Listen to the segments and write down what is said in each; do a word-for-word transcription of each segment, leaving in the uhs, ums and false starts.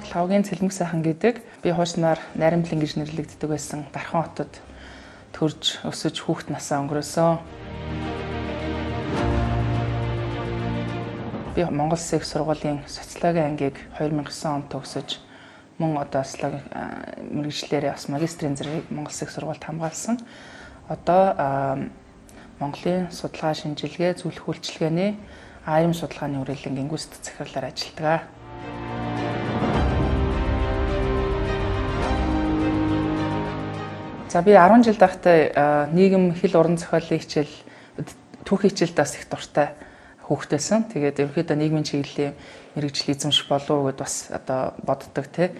намайг Лавгийн Цэлмэг сайхан гэдэг. Би хуучнаар Найрамдлан гэж нэрлэгддэг байсан Дархан хотод төрж өсөж хүүхэд насаа өнгөрөөсөн. Би Монгол Улсын их сургуулийн социологийн ангийг хоёр мянган девьсун онд төгсөж мөн одоо социологи мэргэжлээрээ бас магистрийн зэргийг Монгол Улсын их сургуульд хамгаалсан. Одоо Монголын судалгаа шинжилгээ зөвлөх үйлчилгээний АИМ судалгааны үрэлэн гингүүст захирлаар ажилладаг. За би арван жил байхдаа нийгэм хэл уран зохиолын хичээл түүхийн хичээлд бас их дуртай хүүхдээсэн. Тэгээд ерөнхийдөө нийгмийн чиглэлийн мэргэжил эзэмших болов уу гэд бас одоо боддог тий.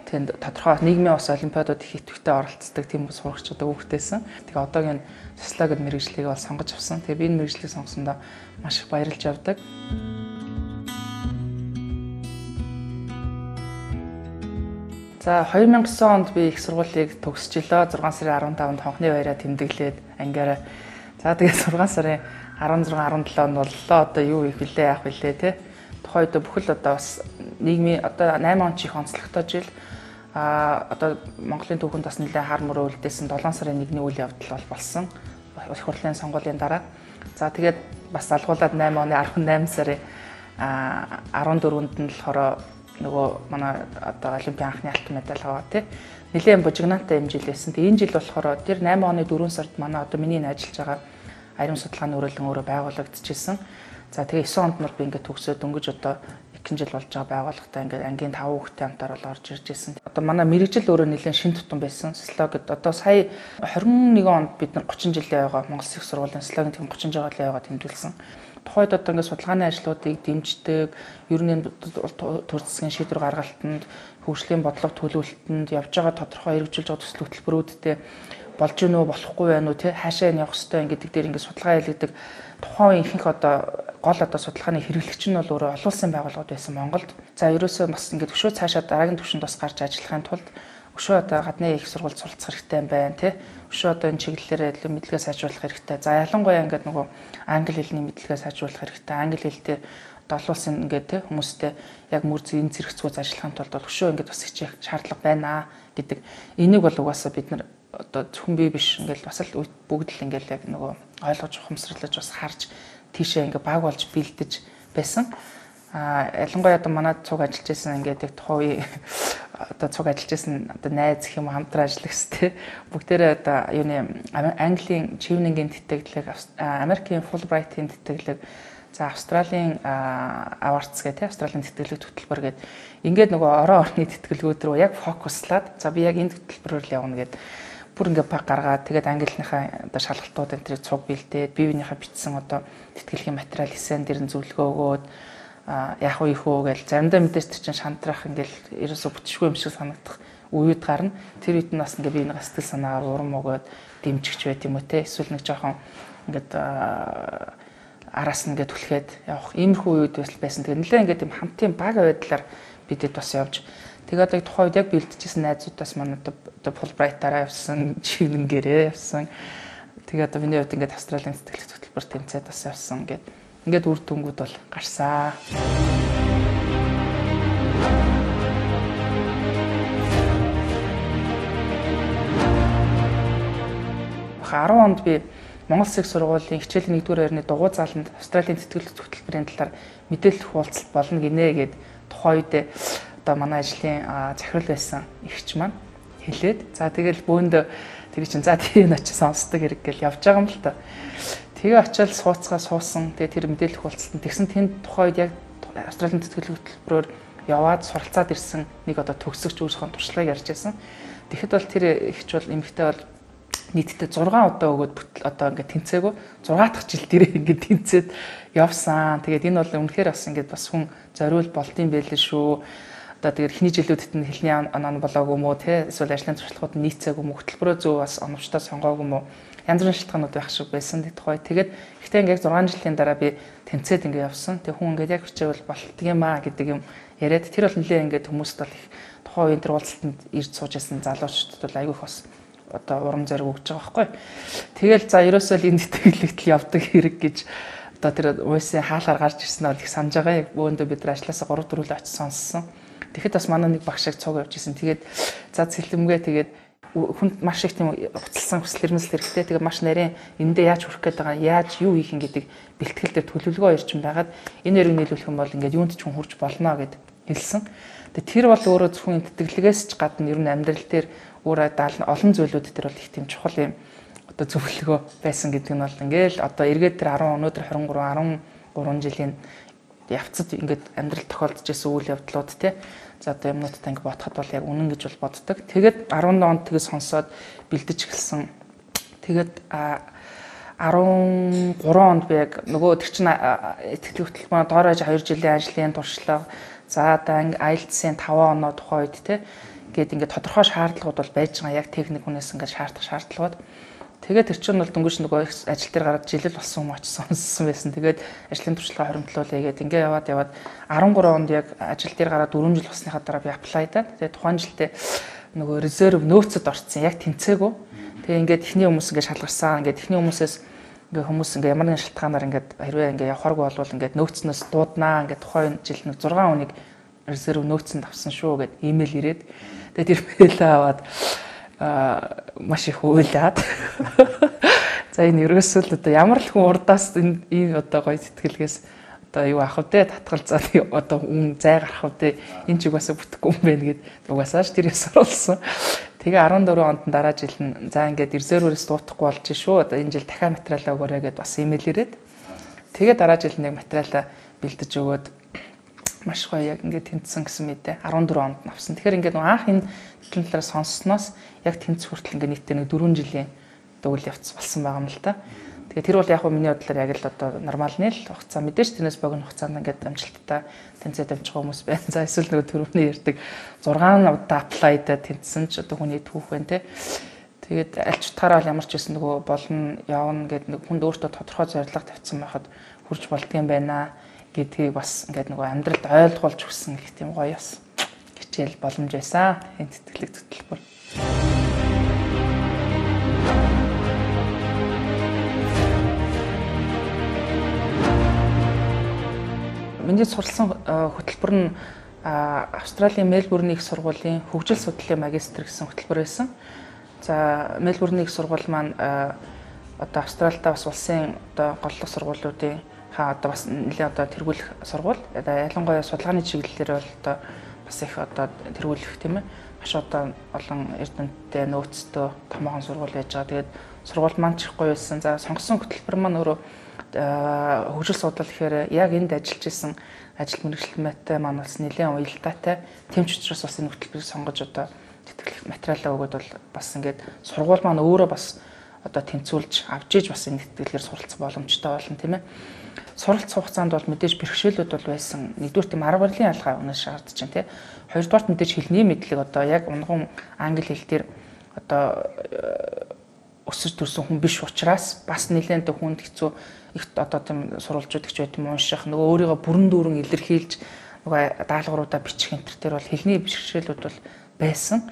Тэнд тодорхой нийгмийн ус олимпиадууд их идэвхтэй оролцдог тийм сурагч одоо хүүхдээсэн. Тэгээд одоогийн социологи мэргэжлийг бол сонгож авсан. Тэгээд би энэ мэргэжлийг сонгосондоо маш их баярлж явдаг. За хоёр мянган девьсун онд би их сургуулийг төгсөж илоо. зургаан сарын арван таванд хонхны баяраа тэмдэглээд ангиараа. За тэгээд зургаан сарын арван зургаан арван долоо нь боллоо. Одоо юу их вүлээ яах вүлээ те. Тухайн үед бүхэл одоо бас нийгмийн одоо найман он чих онцлогтой жил а одоо Монголын түүхэнд бас нэлээд хар мөрөө үлдээсэн долоон сарын нэгний үйл явдал бол болсон. Их хурлын сонгуулийн дараа. За тэгээд бас алгуулад найман оны арван найман сарын арван дөрөвөнд нь болохоор нөгөө манай одоо олимпийн анхны алтан медаль аваа тий. Нэлээд бужигнаатай юм жил байсан. Тэгээ энэ жил болохоор тэр найман оны дөрвөн сард манай одоо миний ажиллаж байгаа АИМ судалгааны үрэлэн өөрөө байгуулагдчихсэн. За тэгээ девьсун онд нар би ингээд төгсөөд дөнгөж одоо эхэн жил болж байгаа байгууллагатай ингээд ангийн таван хүүхэдтэй хамтаар бол орж ирж ирсэн. Одоо манай мэргэжил өөрөө нэлээд шин тутам байсан. Социологид одоо сая хорин нэгэн онд бид нар гучин жилийн яваа Монгол Улсын их сургуулийн социологийн тэм гучин жилийн яваа тэмдэглэсэн. Тухайд одоо ингээд судалгааны ажлуудыг дэмждэг, ер нь төр засгийн шийдвэр гаргалтанд, хөгжлийн бодлого төлөвлөлтөнд явж байгаа тодорхой хэрэгжүүлж байгаа төсөл хөтөлбөрүүдтэй болж гинөө болохгүй байна уу тий хаашаа нь явах хэрэгтэй гэдэг дээр ингээд судалгаа хийлгдэг. Тухайн ихэнх одоо гол одоо судалгааны хэрэглэгч нь бол өөрөө олон улсын байгууллагууд байсан Монголд. За ерөөсөө бас ингээд өшөө цаашаа дараагийн түвшинд бас гарч ажиллахын тулд өшөө одоо гадны их сургуульд суралцах хэрэгтэй юм байна тий. Өшөө одоо энэ чиглэлээр илүү мэдлэгээ сайжруулах хэрэгтэй. За ялангуяа ингээд нөгөө англи хэлний мэдлэгээ сайжруулах хэрэгтэй. Англи хэл дээр одоо олон улсын ингээд тий хүмүүстэй яг мөр зүйн зэрэгцгүүц ажиллахын тулд бол өшөө ингээд бас хичээх шаардлага байна гэдэг. Энийг бол угаасаа бид нар одоо зөвхөн би биш ингээл бас л бүгд л ингээл яг нөгөө ойлгож ухамсарлаж бас харж тийшээ ингээ баг болж бэлдэж байсан. А ялангуяа одоо манай цуг ажиллаж байсан ингээд яг тухайн одоо цуг ажиллаж байсан одоо найз гэх юм хамтран ажиллагс те бүгдээрээ одоо юуны Английн Чивнингийн тэтгэлэг, Америкийн Fulbright-ийн тэтгэлэг, за Австралийн Awards гэх те Австралийн тэтгэлэг хөтөлбөр гээд ингээд нөгөө орон орны тэтгэлгүүд рүү яг фокуслаад за би яг энэ хөтөлбөрөөр л явна гэд бүр ингээ баг гаргаад тэгээд ангилийнхаа одоо шалгалтууд энэ тэрийг цуг бэлдээд биевийнхээ бичсэн одоо тэтгэлгийн материал эсэн дэр нь зөвлөгөө өгөөд яах вэ их үү гэж заримдаа мэдээж чинь шантрах ингээл ерөөсө бүтшгүй юм шиг санагдах үед гарна. Тэр үед нь бас ингээ би нэг сэтгэл санаагаар урам өгөөд дэмжигч байт юм уу те эсвэл нэг жоохон ингээд араас нь ингээ түлхээд явах иймэрхүү үед байсан. Тэгээд нэлээ ингээ тийм хамтын баг байдлаар бидэд бас явж тэгээд яг тухайн үед яг бэлдчихсэн найзуудаас манай одоо Fulbright-аараа явсан, Чивнингээрээ явсан. Тэгээд одоо миний хувьд ингээд Австралийн сэтгэлх хөтөлбөр тэмцээд бас явсан гэд. Ингээд үр дүнгууд бол гарсан. арван онд би Монгол Улсын их сургуулийн хичээлийн нэгдүгээр байрны дугуй заланд Австралийн сэтгэлх хөтөлбөрийн талаар мэдээлэл хуваалцалт болно гинэ гэд тухайн үед одоо манай ажлын захирал байсан эгч маань хэлээд за тэгэл бөөндө тэр чинь за тийм очиж сонсдог хэрэг гэл явж байгаа юм л та. Тэгээ очиад сууцгаа суусан. Тэгээ тэр мэдээлэл хуваалцсан. Тэгсэн тэнд тухайн үед яг Австралийн сэтгэл хөтөлбөрөөр яваад суралцаад ирсэн нэг одоо төгсөгч өөрийнхөө туршлагыг ярьж байсан. Тэгэхэд бол тэр эгч бол эмэгтэй бол нийтдээ зургаан удаа өгөөд одоо ингээд тэнцээгөө зургаан дахь жил дээрээ ингээд тэнцээд явсан. Тэгээд энэ бол үнэхээр бас ингээд бас хүн зориул болдсон байлээ шүү. Одоо тэгээд эхний жилүүдэд нь хэлний оноо болоогүй юм уу те эсвэл ажлын туршлагууд нь нийцээгүй юм уу хөтөлбөрөө зөв бас оновчтой сонгоогүй юм уу янз бүрийн шалтгаанууд байх шиг байсан тухай. Тэгээд ихтэй ингээд зургаан жилийн дараа би тэнцээд ингээд явсан. Тэг хүн ингээд яг хичээвэл болтго юм аа гэдэг юм яриад тэр бол нэлээ ингээд хүмүүст бол их тухайн үеийн тэр уулзалтанд ирж сууж байсан залуучуудад бол айгүйх бас одоо урам зориг өгч байгаа байхгүй. Тэгэл за ерөөсөө л энэ тэтгэлэгт явдаг хэрэг гэж одоо тэр уйсын хаалгаар гарч ирсэн бол их санаж байгаа. Яг бөөндөө бид нар ажилласаа гурав дөрвөл очиж сонссон. Тэгэхэд бас манай нэг багш шиг цуг явж исэн. Тэгээд за цэлмгээ тэгээд хүнд маш их тийм уцалсан хүсэл эрмэлзэл хэрэгтэй. Тэгээд маш нарийн эндээ яаж хүрэх гээд байгаа, яаж юу хийх гэдэг бэлтгэл дээр төлөвлөгөө ирчин байгаад энэ хоёрыг нийлүүлэх юм бол ингээд юунд ч хүн хурж болно гэд хэлсэн. Тэгээд тэр бол өөрөө зөвхөн тэтгэлгээс ч гадна ер нь амьдрал дээр өөрөө олон зүйлүүд дээр бол их тийм чухал юм одоо зөвлөгөө байсан гэдэг нь бол ингээл одоо эргээд тэр арван өнөөдөр двадцать три арван гурван жилийн явцад ингээд амьдрал тохиолдож байсан үйл явдлууд те. За одоо юмнуудтай ингээд бодоход бол яг үнэн гэж бол боддог. Тэгээд арван онд тэгээд сонсоод бэлдэж эхэлсэн. Тэгээд арван гурван онд би яг нөгөө тэр чин итгэл хөтөлбөрөөр доорож хоёр жилийн ажлын туршлага за одоо ай эл ти эс-ийн таван оноо тухай үед те гээд ингээд тодорхой шаардлагууд бол байж байгаа. Яг техник хүнээс ингээд шаардах шаардлагууд. Тэгээд тэр чинь бол дөнгөж нөгөө ажил дээр гараад жилэл болсон юм очсон сонссон байсан. Тэгээд ажлын туршлага хоримтлуулъя гээд ингээ яваад яваад арван гурван онд яг ажил дээр гараад дөрвөн жил болсныхаа дараа би аплайдаад тэгээд тухайн жилдээ нөгөө резерв нөөцөд орцсон. Яг тэнцээгүү. Тэгээд ингээд эхний хүмүүс ингээ шалгарсан. Ингээд эхний хүмүүсээс ингээ хүмүүс ингээ ямар нэгэн шалтгаанаар ингээд хэрвээ ингээ явахааргүй болвол ингээд нөөцнөөс дууднаа. Ингээд тухайн жил нэг зургаан хүнийг резерв нөөцөнд авсан шүү гэд имэйл ирээд тэгээд тэр мэйл аваад маш их уйлаад. За энэ ерөөсөө л одоо ямар л хүн урдаас энэ ийм одоо гоё сэтгэлгээс одоо юу авах вэ? Татгалзаад одоо үн зай гарах вэ? Энэ ч угаасаа бүтэхгүй юм байна гэд угаасаа ч тэрээс оруулсан. Тэгээ арван дөрвөн онд дараа жил нь за ингээд резервээс дуутахгүй болж шүү. Одоо энэ жил дахиад материалаа өгөөрэй гэд бас имэйл ирээд. Тэгээ дараа жил нэг материалаа бэлдэж өгөөд маш гоё яг ингээд тэнцсэн гэсэн мэдээ арван дөрвөн онд авсан. Тэгэхээр ингээд анх энэ төлөв талаар сонссноос яг тэнц хүртэл ингээд нийтдээ нэг дөрвөн жилийн үйл явц болсон байгаа юм л та. Тэгээ тэр бол яг миний бодлоор яг л одоо нормалны л хугацаа мэдээж тэрнээс богино хугацаанд ингээд амжилттай тэнцээд амжих хүмүүс байна. За эсвэл нөгөө төрөвний ярьдаг зургаан удаа аплайдаа тэнцсэн ч одоо хүний түүх байна те. Тэгээд аль ч утгаараа ямар ч байсан нөгөө болно явна гэдэг нэг хүнд өөртөө тодорхой зорилго тавьсан байхад хүрч болдгийм байна гэдгийг бас ингээд нөгөө амьдралд ойлгуулж өгсөн гэх тийм гоё бас хичээл боломж байсан. Энэ тэтгэлэг хөтөлбөр. Миний суралцсан хөтөлбөр нь Австралийн Мельбурний их сургуулийн хөгжил судлалын магистр гэсэн хөтөлбөр байсан. За Мельбурний их сургууль маань одоо Австралидаа бас улсын одоо голлох сургуулиудын ха одоо бас нэлээд одоо тэргүүлэх сургууль. Ялангуяа судалгааны чиглэлээр бол одоо бас их одоо тэргүүлэх тийм ээ. Маш одоо олон эрдэмтдээ нөөцтэй томоохон сургууль байж байгаа. Тэгээд сургууль маань ч их гоё байсан. За сонгосон хөтөлбөр маань өөрөө хөгжил судлал гэхээр яг энд ажиллаж исэн ажил мэргэжилттэй маань бас нэлээд уялдаатай. Тэмч учраас бас энэ хөтөлбөрийг сонгож одоо тэтгэх материалаа өгөөд бол бас ингээд сургууль маань өөрөө бас одоо тэнцүүлж авч иж бас энэ тэтгэлгээр суралцах боломжтой болно тийм ээ. Суралцах хугацаанд бол мэдээж бэрхшээлүүд бол байсан. Нэгдүгээр тийм арга барилын ялгаа өнөөс шаардж байна тийм. Хоёрдугаарт мэдээж хэлний мэдлэг одоо яг унган англи хэл дээр одоо өсөж төрсэн хүн биш учраас бас нэлээд хүнд хэцүү их одоо тийм сурвалжууд их байт юм унших нөгөө өөрийгөө бүрэн дүүрэн илэрхийлж нөгөө даалгавруудаа бичих энэ төр бол хэлний бэрхшээлүүд бол байсан.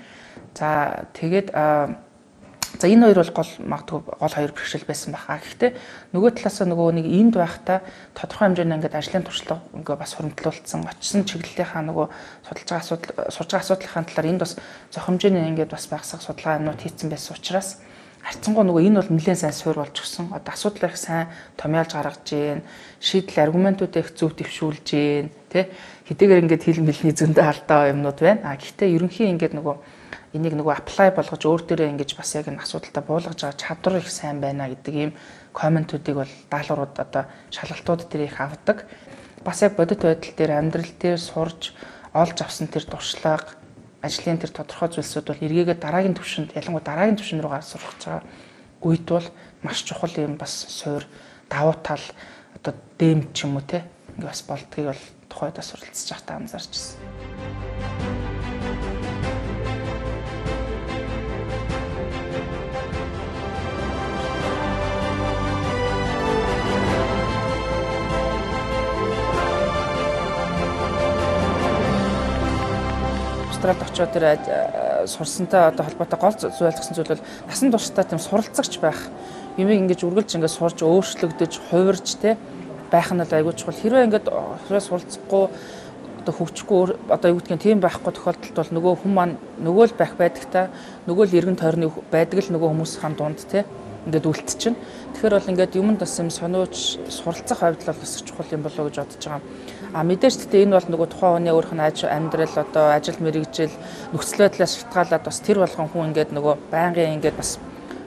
За тэгээд за энэ хоёр бол гол магадгүй гол хоёр бэрхшээл байсан баха. Гэхдээ нөгөө талаасаа нөгөө нэг энд байхдаа тодорхой хэмжээний ингээд ажлын туршлага ингээ бас хөрөмтлүүлсэн очсон чиглэлийнхаа нөгөө судалж байгаа асуудал сурж байгаа асуудлынхаа талаар энд бас зохимжооны ингээд бас багсах судалгаа юмнууд хийцэн байсан учраас харцсангуу нөгөө энэ бол нэлээд сайн суур болж гисэн. Одоо асуудал их сайн томьёолж гаргаж гээ, шийдэл аргументуудыг их зөв дэвшүүлж гээ, тэ хэдийгээр ингээд хэл мэлний зөндөө алдаа юмнууд байна. А гэхдээ ерөнхийн ингээд нөгөө энийг нөгөө apply болгож өөр дээрээ ингэж бас яг энэ асуудалтай буулгаж байгаа чадвар их сайн байна гэдэг ийм комментуудыг бол даалгаврууд одоо шалгалтууд дээр их авдаг. Бас яг бодит байдал дээр амьдрал дээр сурж олж авсан тэр туршлага ажлын тэр тодорхой зүйлсүүд бол эргээгээ дараагийн түвшинд ялангуяа дараагийн түвшин рүүгээ сурах байгаа үед бол маш чухал юм бас суур давуу тал одоо дэм ч юм уу те ингээ бас болдгийг бол тухайдаа суралцж байхдаа анзаарч байна. Австралид очиод тэр сурсантай одоо холбоотой гол зүйл ойлгосон зүйл бол насан туршдаа тийм суралцагч байх. Юмыг ингэж үргэлж ингэж сурж өөрчлөгдөж, хувирж те байх нь л айгүй чухал. Хэрвээ ингэж хэрвээ суралцахгүй одоо хөгжихгүй одоо юу гэдгийг тийм байхгүй тохиолдолд бол нөгөө хүн маань нөгөө л байх байдагтай нөгөө л эргэн тойрны байдаг л нөгөө хүмүүсийн дунд тий ингээд үлдчихэв. Тэгэхээр бол ингээд юмд бас юм сониуч суралцах хувьд бол бас чухал юм болоо гэж бодож байгаа. А мэдээж гэхдээ энэ бол нөгөө тухайн хүний өөрийнх нь ажил амьдрал одоо ажил мэргэжил нөхцөл байдлаас шалтгаалаад бас тэр болгон хүн ингээд нөгөө байнгын ингээд бас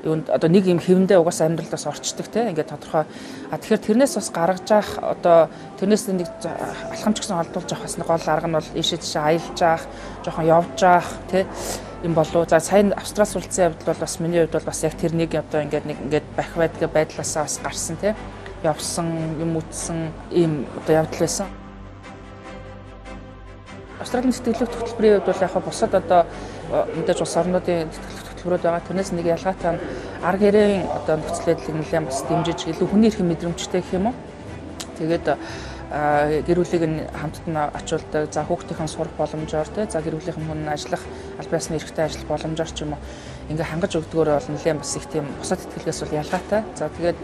юунд одоо нэг юм хэвэндээ угаас амьдралдаас орчдөг те ингээд тодорхой. А тэгэхээр тэрнээс бас гаргаж явах одоо тэрнээс нэг алхамч гэсэн холдуулж явах бас нэг гол арга нь бол ийшээ тийшээ аялж явах, жоохон явж явах те юм болов. За сайн Австрали суралцсан явдал бол бас миний хувьд бол бас яг тэр нэг одоо ингээд нэг ингээд байх байдаг байдлаасаа бас гарсан те явсан юм үтсэн ийм одоо явдал байсан. Австралийн сэтгэлхөдлөх хөтөлбөрийн хувьд бол яг бусад одоо мэдээж улс орнуудын хөтөлбөрүүд байгаа. Тэрнээс нэг ялгаатай нь арга гэрийн одоо нөхцөл байдлыг нэлээд бас дэмжиж илүү хүний эрхийн мэдрэмжтэй гэх юм уу. Тэгээд гэр бүлийг нь хамтд нь очуулдаг. За хүүхдийн сурах боломжоор те за гэр бүлийн хүн ажиллах аль биесны эрхтэй ажиллах боломжоор ч юм уу ингээ хангаж өгдөгөөр бол нэлээд бас их тийм бусад ихтгэлээс бол ялгаатай. За тэгээд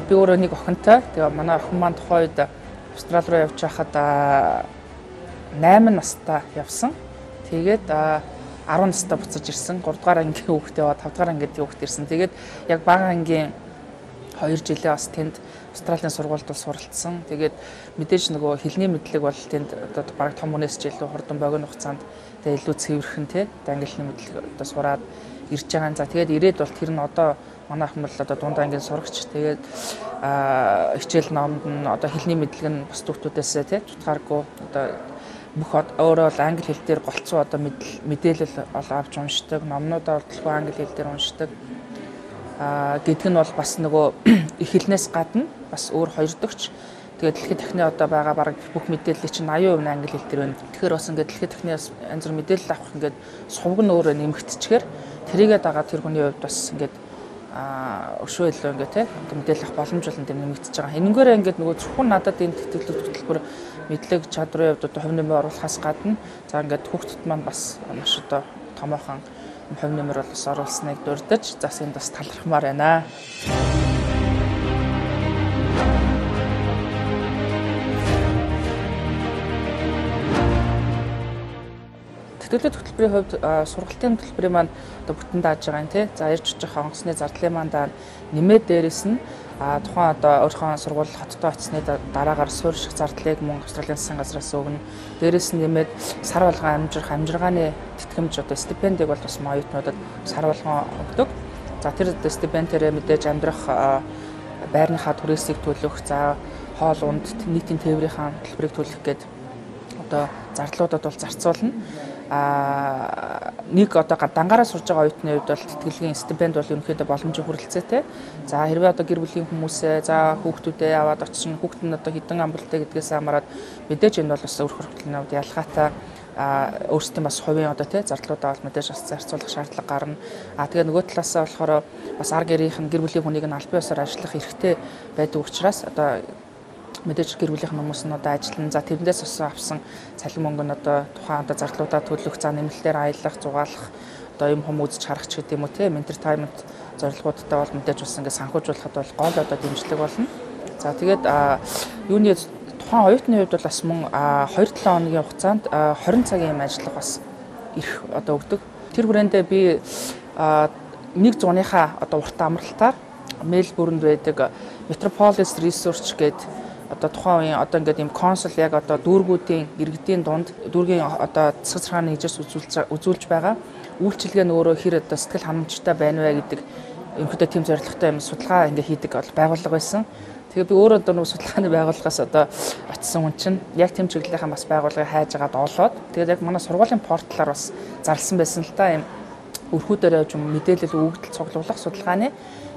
би өөрөө нэг охинтой. Тэгээ манай охин маань тухайн үед Австрали руу явж байхад найман настай явсан. Тэгээд арван настай буцаж ирсэн. гурав дугаар ангийн хүүхдээ ба тавд дугаар ангид хүүхд ирсэн. Тэгээд яг бага ангийн хоёр жилээ бас тэнд Австралийн сургуульд суралцсан. Тэгээд мэдээж нөгөө хэлний мэдлэг бол тэнд одоо баг том хүнээс ч илүү хурдан богино хугацаанд тэгээд илүү цэвэрхэн те англи хэлний мэдлэг одоо сураад ирж байгаа. За тэгээд ирээд бол тэр нь одоо манай охин бол одоо дунд ангийн сурагч. Тэгээд хичээл номд нь одоо хэлний мэдлэг нь бас төвтүүдээс те тутгааргүй одоо бүх өөрөө бол англи хэл дээр голцоо одоо мэдээлэл авч уншдаг, номнуудаа бол англи хэл дээр уншдаг. Аа гэдэг нь бол бас нөгөө их хэлнээс гадна бас өөр хоёрдогч. Тэгээд дэлхийн техникийн одоо байгаа бараг бүх мэдээллийг чинь аян хувь англи хэл дээр байна. Тэгэхээр бас ингээд дэлхийн техникийн янз бүр мэдээлэл авах ингээд сувг нь өөрөө нэмэгдчихээр тэрийгээ дагаад тэр хүний хувьд бас ингээд аа өшөө илүү ингээд те мэдээлэл авах боломж бол энэ нэмэгдэж байгаа. Энэгээр ингээд нөгөө зөвхөн надад энэ тэтгэлэг хөтөлбөр мэдлэг чадрын хувьд одоо хувь нэмэр оруулахаас гадна за ингээд хүүхдэд маань бас маш одоо томоохон хувь нэмэр бол бас оруулсныг дурдж зас энд бас талархмаар байна. Тэтгэлэг хөтөлбөрийн хувьд сургалтын хөтөлбөрийн маань одоо бүтэн дааж байгаа юм тий. За ирж очих онгоцны зардлын маань даа нэмээд дээрэс нь а тухайн одоо өөрийнхөө сургууль хоттой очсны дараагаар суурь шиг зардлыг мөн Австралийн засгийн газраас өгнө. Дээрээс нь нэмээд сар болгон амжирах амжиргааны тэтгэмж одоо стипендийг бол бас оюутнуудад сар болгон өгдөг. За тэр стипендээрээ мэдээж амьдрах байрныхаа түрээсийг төлөх, за хоол унд нийтийн тээврийнхаа төлбөрийг төлөх гээд одоо зардлуудад бол зарцуулна. А нэг одоо дангаараа сурж байгаа оюутны хувьд бол тэтгэлгийн стипенд бол ерөнхийдөө боломжийн хүрэлцээтэй. За хэрвээ одоо гэр бүлийн хүмүүсээ за хүүхдүүдээ аваад очих нь хүүхэд нь одоо хідэн амбултай гэдгээс хамаарат мэдээж энэ бол бас өөр хөргөтлийн хувьд ялгаатай өөрсдийн бас хувийн одоо тий зардлуудаа бол мэдээж бас зарцуулах шаардлага гарна. А тэгээ нөгөө талаасаа болохоор бас ар гэрийнх нь гэр бүлийн хүнийг нь аль биесээр ажиллах эрхтэй байдаг учраас одоо мэдээж гэр бүлийн хүмүүс нь одоо ажиллана. За тэрнээс бас авсан цалин мөнгө нь одоо тухайн одоо зардлуудаа төлөх, за нэмэлтээр аялах, зугаалах, одоо юм хүм үзэж харах ч гэдэг юм уу тийм entertainment зорилгоудтай бол мэдээж бас ингээд санхүүжуулахад бол гол одоо дэмжлэг болно. За тэгээд юуны тухайн оюутны хувьд бол бас мөн хоёр till хоногийн хугацаанд хорин цагийн юм ажиллах бас ирэх одоо өгдөг. Тэр хүрээндээ би нэг зууныхаа одоо урт амралтаар Мельбурнд байдаг Metropolis Research гэдэг одоо тухайн үеийн одоо ингээд юм консул яг одоо дүүргүүдийн иргэдийн дунд дүүргийн одоо засаг захааны нэгжээс үзүүлж үзүүлж байгаа үйлчилгээ нь өөрөө хэр одоо сэтгэл ханамжтай байна вэ гэдэг ерөнхийдөө тийм зорилготой юм судалгаа ингээд хийдэг бол байгууллага байсан. Тэгээ би өөрөө одоо нэг судалгааны байгууллагаас одоо очисон хүн чинь яг тийм чиглэлийнхэн бас байгууллагыг хайж агаад олоод тэгээд яг манай сургуулийн порталаар бас зарласан байсан л та юм өрхүүдээр явж мэдээлэл өгөгдөл цуглуулах судалгааны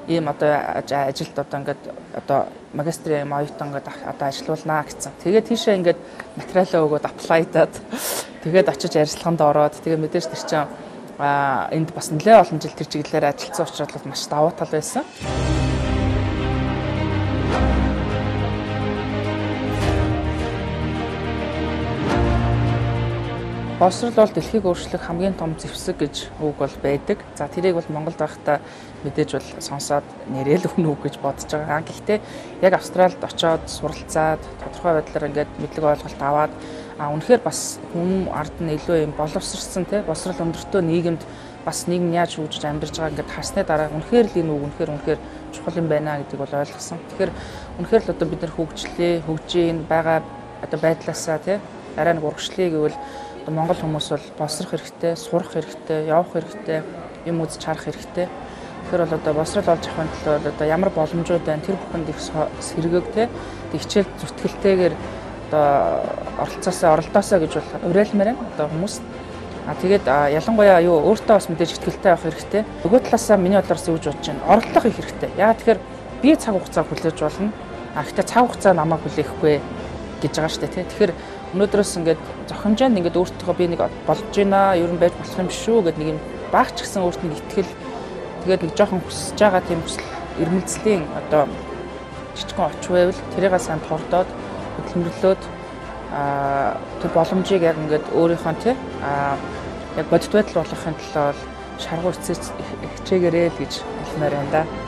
ийм одоо ажилд одоо ингээд одоо магистрийн оюутан ингээд одоо ажиллаулнаа гэсэн. Тэгээд тийшээ ингээд материалаа өгөөд аплайдаад тэгээд очиж ярилцлаганд ороод тэгээд мэдээж тэр чинь а энд бас нэлээд олон жил тэр чиглэлээр ажилласан учраас маш давуу тал байсан. Боловсрол бол дэлхийг өөрчлөх хамгийн том зэвсэг гэж үг бол байдаг. За тэрийг бол Монголд байхдаа мэдээж бол сонсоод нэрэл өгнө үг гэж бодож байгаа. Гэхдээ яг Австралид очоод суралцаад тодорхой байдлаар ингээд мэдлэг ойлголт аваад А үнэхээр бас хүн ард нь илүү юм боловсрсан те босрал өндөртөө нийгэмд бас нийгэм яаж хөгжиж амьдарч байгааг ингээд харсны дараа үнэхээр л энэ үг үнэхээр үнэхээр чухал юм байна гэдгийг бол ойлгосон. Тэгэхээр үнэхээр л одоо бид нар хөгжлээ, хөгжиж байгаа одоо байдлаасаа те арай нэг урагшлыг гэвэл одоо монгол хүмүүс бол босрох хэрэгтэй, сурах хэрэгтэй, явах хэрэгтэй, юм үзэж харах хэрэгтэй. Тэгэхээр бол одоо босрал олж авахын тулд одоо ямар боломжууд байна тэр бүхэнд их сэргээг те хичээл зүтгэлтэйгээр одоо оролцоосоо оролдоосоо гэж бол уриалмаар байна одоо хүмүүс. А тэгээд ялангуяа юу өөртөө бас мэдээж ихтгэлтэй авах хэрэгтэй. Нөгөө талаасаа миний бодлоор зөвж бодож байна. Оролдлого хийх хэрэгтэй. Яагаад тэгэхээр би цаг хугацаа хүлээж болно. А гэхдээ цаг хугацаа намайг хүлээхгүй гэж байгаа шүү дээ тий. Тэгэхээр өнөөдрөөс ингээд зохимжаанд ингээд өөртөө би нэг болж байна, ер нь байж болох юм шүү гэд нэг юм багч гисэн өөрт нэг итгэл тэгээд нэг жоохон хүсэж байгаа тийм ирмэлцлийн одоо жижигхэн оч байвал тэрийг сайн тордоод хөдөлмөрлөөд а тэр боломжийг яг ингээд өөрийнхөө тий а яг бодит байдал болгохын тулд шаргуу хичээгээрэй л гэж хэлмээр байна да.